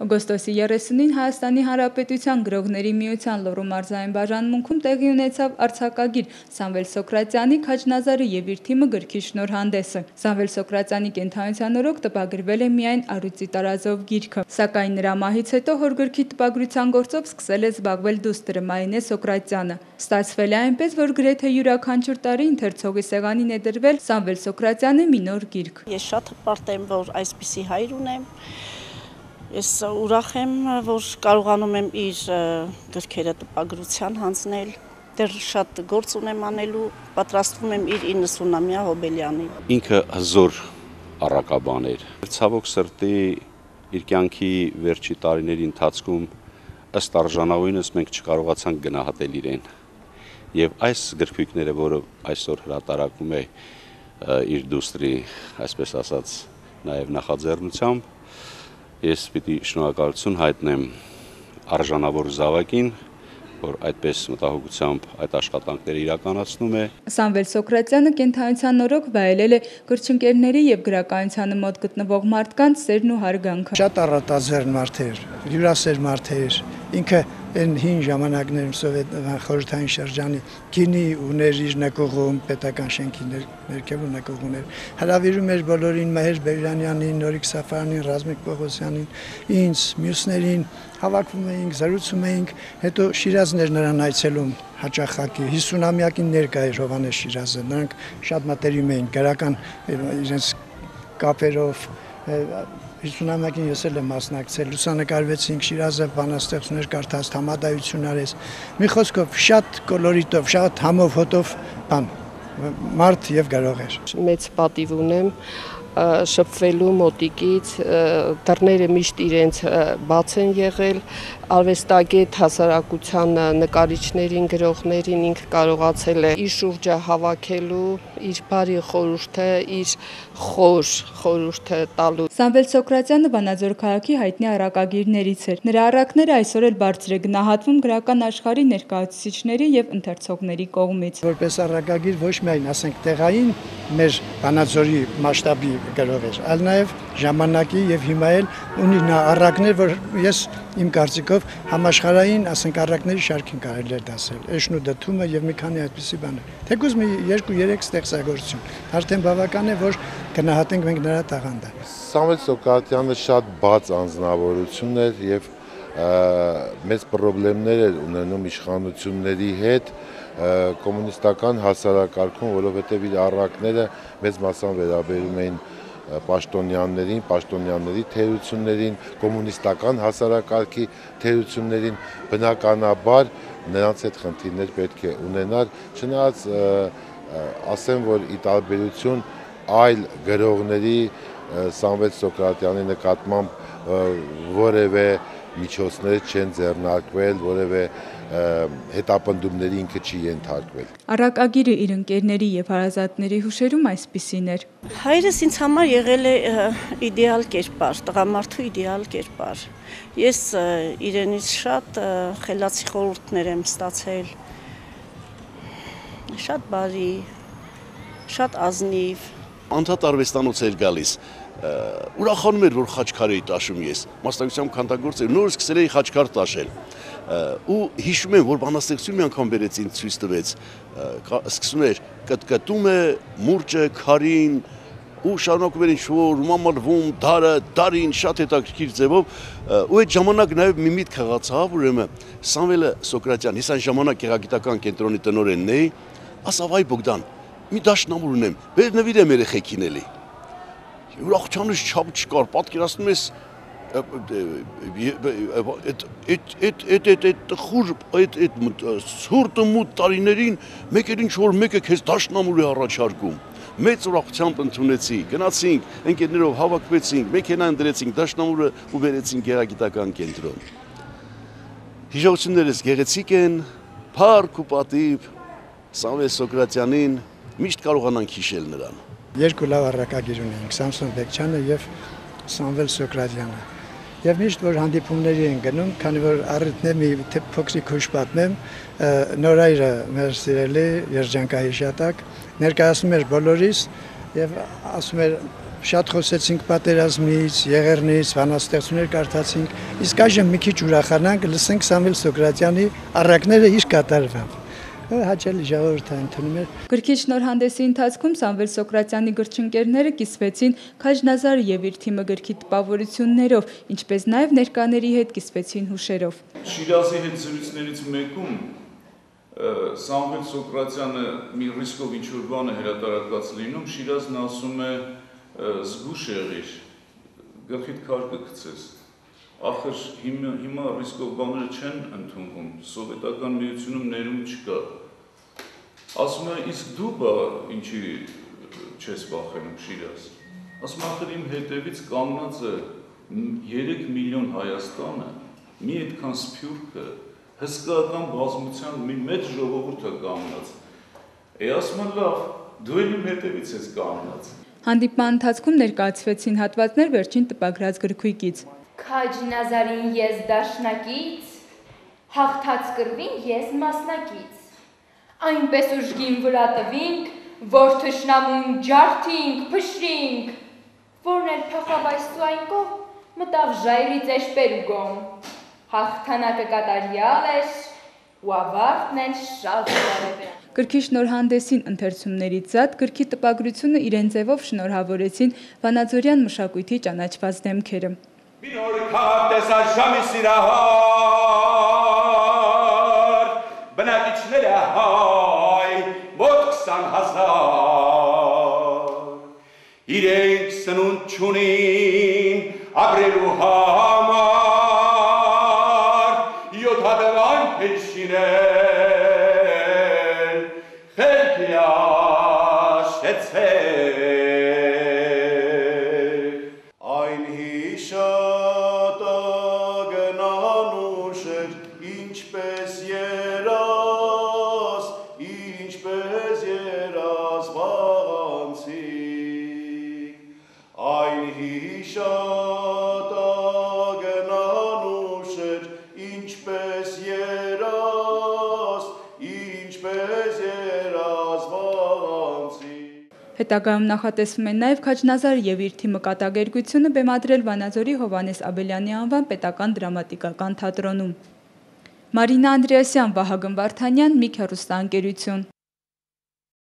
Օգոստոսի 30-ին Հայաստանի Հանրապետության գրողների միության Լոռու մարզային բաժանմունքում տեղի ունեցավ արձակագիր Սամվել Սոկրատյանի «Քաջնազարը և իր թիմը» գրքի շնորհանդեսը։ Սամվել Սոկրատյանի կենդանության օրոք տպագրվել է միայն առյուծի տարազով գիրքը, սակայն նրա մահից հետո հոր գրքի տպագրության գործով սկսել է զբաղվել դուստրը Մարինե Սոկրատյանը։ Ստացվել է այնպես, որ գրեթե յուրաքանչյուր տարի ընթերցողի սեղանին է դրվել Սամվել Սոկրատյանի մի նոր գիրք։ Ես շատ հպարտ եմ, որ այսպիսի հայր ունեմ։ Ես ուրախ եմ, որ կարողանում եմ իր գրքերը տպագրության հանձնել, դեռ շատ գործ ունեմ անելու, պատրաստվում եմ իր 90-ամյա հոբելյանին։ Ինքը հզոր առակաբան էր։ Ցավոք սրտի իր կյանքի վերջի տարիների ընթացքում ըստ արժանավորինս մենք չկարողացանք գնահատել իրեն։ Եվ այս գրքույկները, որը այսօր հրատարակում է իր դուստրի, այսպես ասած, նաև նախաձեռնությամբ, ես պիտի շնորհակալություն հայտնեմ արժանավոր զավակին, որ այդպես մտահոգությամբ այդ աշխատանքները իրականացնում է։ Սամվել Սոկրատյանը կենդանության օրոք վայելել է գրչընկերների եւ գրականությանը մոտ գտնվող մարդկանց սերն ու հարգանքը։ Շատ առատաձեռն մարդ էր, հյուրասեր մարդ էր, ինքը այն հին ժամանակներում սովետական խորհրդային շրջանի գինի ուներ իր նկողում, պետական շենքի ներքևում նկող ուներ, հրավիրում էր բոլորին, Մհեր Բերյանյանին, Նորիկ Սաֆարանին, Ռազմիկ Պողոսյանին, ինձ, մյուսներին, հավաքվում էինք, զրուցում էինք, հետո Շիրազներ նրան այցելում հաճախակի, 50-ամյակին ներկա էր Հովհաննես Շիրազը, նրանք շատ մտերիմ էին, գրական իրենց կապերով, 50-ամյակին ես էլ եմ մասնակցել, լուսանկարվեցինք, Շիրազը բանաստեղծություններ կարդաց, համադայություն արեց, մի խոսքով շատ կոլորիտով, շատ համով հոտով մարդ եւ գրող էր։ Մեծ պատիվ ունեմ շփվելու մոտիկից, դռները միշտ իրենց բաց են եղել, արվեստագետ հասարակության նկարիչներին, գրողներին ինքը կարողացել է իր շուրջը հավաքելու, իր բարի խորհուրդը, իր խոր խորհուրդը տալու։ Սամվել Սոկրատյանը Վանաձոր քաղաքի հայտնի առակագիրներից էր։ Նրա առակները այսօր էլ բարձր է գնահատվում գրական աշխարհի ներկայացուցիչների եւ ընթերցողների կողմից։ Որպես առակագիր ոչ միայն, ասենք, տեղային մեր Վանաձորի մասշտաբի գրող էր, այլ նաև ժամանակի եւ հիմա էլ ունի նա առակներ, որ ես իմ կարծիքով համաշխարհային, ասենք, առակների շարքին կարելի է դասել։ Էշն ու դդումը եւ մի քանի այդպիսի բաներ։ Թեկուզ մի 2-3 ստեղծագործություն։ Արդեն բավական է, որ գնահատենք մենք նրա տաղանդը։ Սամվել Սոկրատյանը շատ բաց անձնավորություն էր եւ մեծ խնդիրներ էր ունենում իշխանությունների հետ կոմունիստական հասարակարգում, որովհետև իր առակները մեծ մասամբ վերաբերում էին պաշտոնյաներին, պաշտոնյաների թերություններին, կոմունիստական հասարակարգի թերություններին, բնականաբար նրանց հետ խնդիրներ պետք է ունենար, չնայած ասեմ, որ ի տարբերություն այլ գրողների Սամվել Սոկրատյանի նկատմամբ որևէ միջոցներ չեն ձեռնարկվել, որևէ հետապնդումների ինքը չի ենթարկվել։ Առակագիրը իր ընկերների եւ հարազատների հուշերում այսպիսին էր։ Հայրս ինձ համար եղել է իդեալ կերպար, տղամարդու իդեալ կերպար։ Ես իրենից շատ խելացի խորհուրդներ եմ ստացել, շատ բարի, շատ ազնիվ։ Անդադ արվեստանոց էր գալիս, ուրախանում էր, որ խաչքար էի տաշում ես, մասնակցությամբ քանդագործ էր, նոր սկսել էի խաչքար տաշել, ու հիշում եմ, որ բանաստեղծություն մի անգամ բերեց ինձ ցույց տվեց, սկսում էր կտկտում է մուրճը քարին, ու շարունակում էր ինչ-որ մամալվում, դարին, շատ հետաքրքիր ձևով, ու այդ ժամանակ նաև մի միտք հղացավ, ուրեմն Սամվելը Սոկրատյան, ես այն ժամանակ գեղագիտական կենտրոնի տնօրենն էի, ասավ այ Բոգդան, մի դաշնամուր ունեմ, բեր նվիրեմ երեխեքին էլի։ Ուրախությանս չափ չկար, պատկերացնում ես այդ ցուրտը մութ տարիներին մեկ էլ ինչ-որ մեկը քեզ դաշնամուր է առաջարկում։ Մեծ ուրախությամբ ընդունեցի, գնացինք, ընկերներով հավաքվեցինք, մեքենան դրեցինք դաշնամուրը ու բերեցինք գեղագիտական կենտրոն։ Հիշողություններս գեղեցիկ են, փառք ու պատիվ Սամվել Սոկրատյանին միշտ կարողանանք հիշել նրան։ Երկու լավ առակագիր ունենք, Սամսոն Բեկչյանը եւ Սամվել Սոկրատյանը։ Եվ միշտ որ հանդիպումների են գնում, քանի որ առիթն է մի փոքրիկ հուշ պատմեմ, Նորայրը մեր սիրելի երջանկահիշատակ ներկայացնում էր բոլորիս եւ ասում էր շատ խոսեցինք պատերազմից, եղեռնից, բանաստեղծություններ կարդացինք, իսկ այժմ մի քիչ ուրախանանք, լսենք Սամվել Սոկրատյանի առակները իր կատարվամբ։ Հաճելի ժողովուրդ ընդունում էր։ Գրքի շնորհանդեսի ընթացքում Սամվել Սոկրատյանի գրչընկերները կիսվեցին Քաջնազարը եւ իր թիմը գրքի տպավորություններով, ինչպես նաեւ ներկաների հետ կիսվեցին հուշերով։ Շիրազի հետ զրույցներից մեկում Սամվել Սոկրատյանը մի ռիսկով ինչ-որ բան է հրատարակված լինում, Շիրազն ասում է զգուշ եղիր, գլխիդ քար կգցես։ Ախր հիմա ռիսկով բաները չեն ընդունվում, սովետական միությունում ներում չկա։ Ասում է, իսկ դու բա ինչի չես վախենում Շիրազ։ Ասում է, ախր իմ հետևից կանգնած է 3 միլիոն Հայաստանը, մի այդքան սփյուռքը, հսկայական բազմության մի մեծ ժողովուրդ է կանգնած։ Ասում է, լավ, դու էլ իմ հետևից ես կանգնած։ Հանդիպման ընթացքում ներկայացվեցին հատվածներ վերջին տպագրած գրքույկից։ Քաջնազարին ես դաշնակից, հաղթած կրվին ես մասնակից։ Այնպես ուժգին վրա տվինք, որ թշնամուն ջարդինք, փշրինք, որն էլ փախավայստու այն կողմ, մտավ ժայռից էշպեր ու գոմ։ Հաղթանակը կատարյալ էր, ու ավարտն էլ շատ բարև է։ Գրքի շնորհանդեսին ընթերցումներից զատ գրքի տպագրությունը իրեն ձևով շնորհավորեցին վանաձորյան մշակույթի ճանաչված դեմքերը։ Մի նոր քաղաք տեսար Շամի սիրահար, բնակիչները հայ, մոտ 20,000, իրենք սնունդ չունին ապրելու համար, 7 հատվան փեշինել, խելքի աշեցել, այն հիշատագնան ուշեր, ինչպես երաս վաղանցիկ, այն հիշատագնան ուշեր, ինչպես երաս վաղանցիկ։ Հետագայում նախատեսվում է նաև Քաջնազարը եւ իր թիմը կատակերգությունը բեմադրել Վանաձորի Հովհաննես Աբելյանի անվան պետական դրամատիկական թատրոնում։ Մարինա Անդրեասյան, Վահագն Վարդանյան, Միք հեռուստաընկերություն։